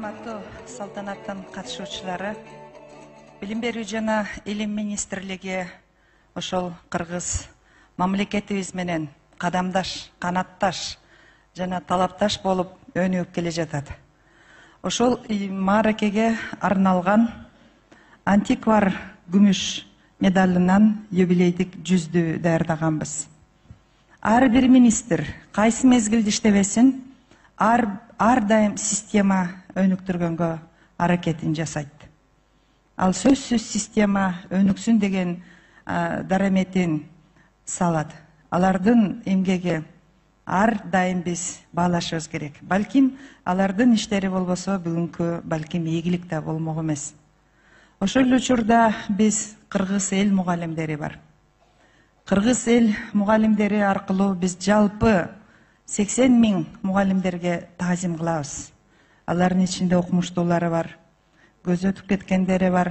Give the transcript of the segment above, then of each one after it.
Урматтуу салтанаттын катышуучулары, Билим берүү жана Илим министрлиги ошол кыргыз мамлекетибиз менен кадамдаш, канатташ жана талапташ болуп өнүгүп келе жатат. Ошол мааракеге арналган антиквар күмүш медалынан юбилейдик жүздү даярдаганбыз. Ар бир министр кайсы мезгилде иштебесин, ар дайым система өнүктүргөнгө аракетин жасайт. Ал сөзсүз система өнүксүн деген дараметин салат. Алардын эмгеги ар дайым биз баалашыбыз керек. Балким алардын иштери болбосо бүгүнкү балким ийгилик да болмок эмес. Ошол эле учурда биз кыргыз эл мугалимдери бар. Кыргыз эл мугалимдери аркылуу биз жалпы 80 000 мугалимдерге таазим кылабыз. Алардын ичинде окумуштуулары бар, көзү өтүп кеткендери бар.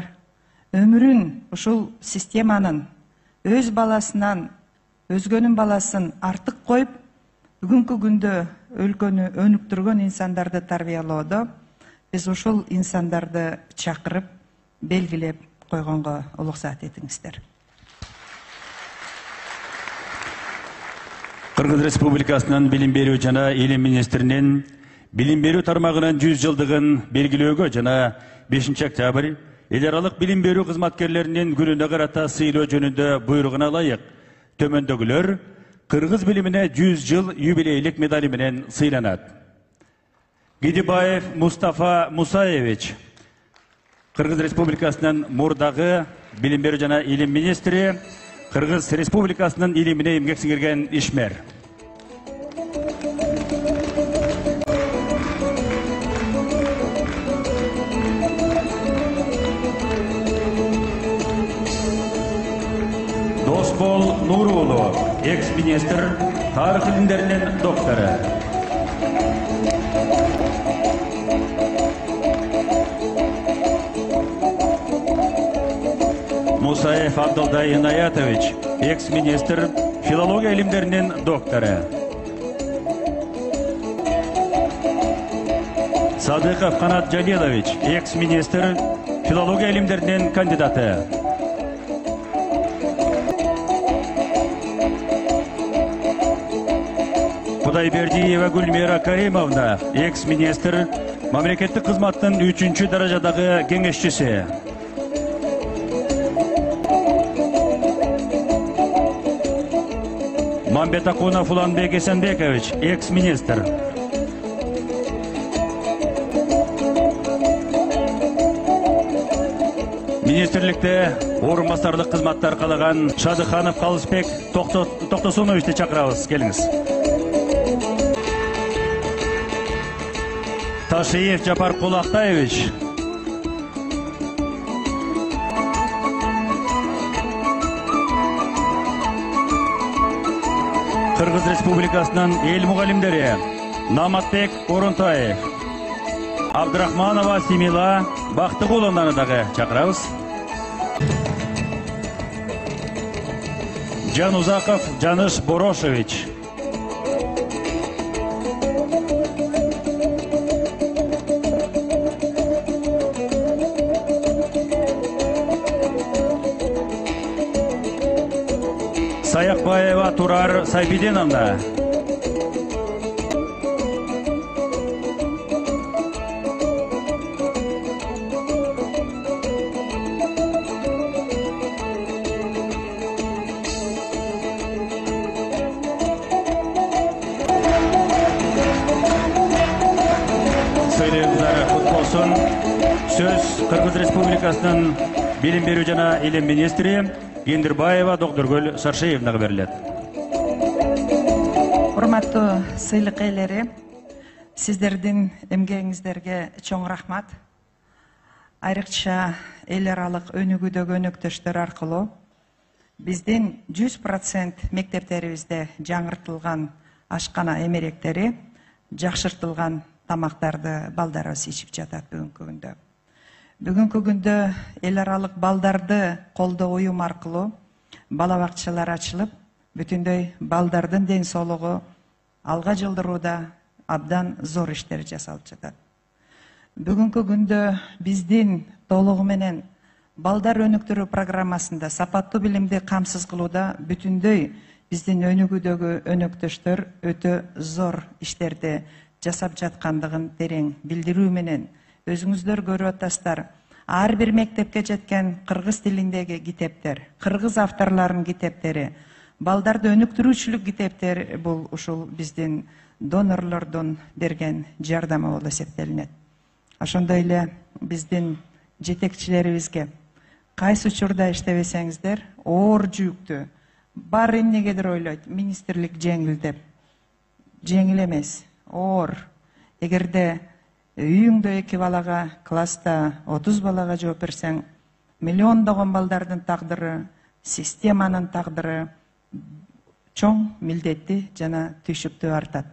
Өмүрүн ушул системанын өз баласынан өзгөнүн баласын артык коюп, бүгүнкү күндө өлкөнү өнүктүргөн инсандарды тарбиялоодо биз ушул инсандарды чакырып, белгилеп койгонго уруксат этиңиздер. Кыргыз Республикасынын Билим берүү жана Илим министринин билим берүү тармагынын 100 жылдыгын белгилөөгө жана 5 октябрь эл аралык билим берүү кызматкерлеринин күнүнө карата сыйлоо жөнүндө буйругуна ылайык төмөндөгүлөр кыргыз билимине 100 жыл юбилейлик медали менен сыйланат. Гидибаев Мустафа Мусаевич, Кыргыз Республикасынын мурдагы билим берүү жана Илим министри, Кыргыз Республикасынын илимине эмгек сиңирген ишмер. Досбол Нурулу, экс-министр, тарых илимдеринин доктору. Мусаев Абдылдай Инаятович, экс-министр, филология илимдеринин доктору. Садыков Канат Жалилович, экс-министр, филология илимдеринин кандидаты. Кудайбердиева Гульмира Каримовна, экс-министр, мамлекеттик кызматтын 3-чү даражадагы кеңешчиси. Мамбетакунов Уланбек Эсенбекович, экс-министр. Министрликте орун басарлык кызматтар калаган Шадыханов Калысбек Токтосуновичти чакырабыз, келиңиз. Ташиев Жапар Кулактаевич, Кыргыз Республикасынын эл мугалимдери Наматбек Орунтаев, Абдрахманова Симила Бактыгуловнаны дагы чакырабыз. Жанузаков Жаныш Борошевич, Саякбаева Турар Сайбиденовна, сыйлыктар кут болсун. Сөз Кыргыз Республикасынын билим берүү жана Илим министри Гендирбаева Доктургүл Саршеевнага берилет. Урматтуу сыйлык ээлери, сиздердин эмгегиңиздерге чоң рахмат. Айрыкча эл аралык өнүгүүдөгү өнөктөштөр аркылуу биздин 100% мектептерибизде жаңыртылган ашкана эмеректери, жакшыртылган тамактарды балдарыбыз ичип жатат бүгүнкү күндө. Бүгүнкү күндө эл аралык балдарды колдоо уюм аркылуу бала бакчалар ачылып, бүтүндөй балдардын ден соолугу алга жылдырууда абдан зор иштер жасалып жатат. Бүгүнкү күндө биздин толугу менен балдар өнүктүрүү программасында сапаттуу билимди камсыз кылууда бүтүндөй биздин өнүгүүдөгү өнөктөштөр өтө зор иштерди жасап жаткандыгын терең билдирүү менен өзүңүздөр көрүп атасыздар. Ар бир мектепке жеткен кыргыз тилиндеги китептер, кыргыз авторлорунун китептери, балдарды өнүктүрүүчүлүк китептер бул ушул биздин донорлордун берген жардамы болуп эсептелинет. Ошондой эле биздин жетекчилерибизге кайсы учурда иштебесеңиздер, оор жүктү баары эмнегедир ойлойт, министрлик жеңил деп. Жеңил эмес, оор. Эгерде үйүңдө 2 балага, класста 30 балага жооп берсең, миллиондогон балдардын тагдыры, системанын тагдыры чоң милдетти жана түйшүктүү артат.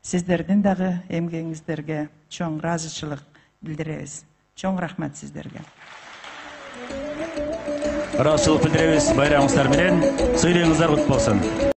Сиздердин дагы эмгегиңиздерге чоң ыраазычылык билдиребиз. Чоң рахмат сиздерге. Ыраазычылык билдиребиз. Байрамыңыздар менен. Сыйлыгыңыздар кут болсун.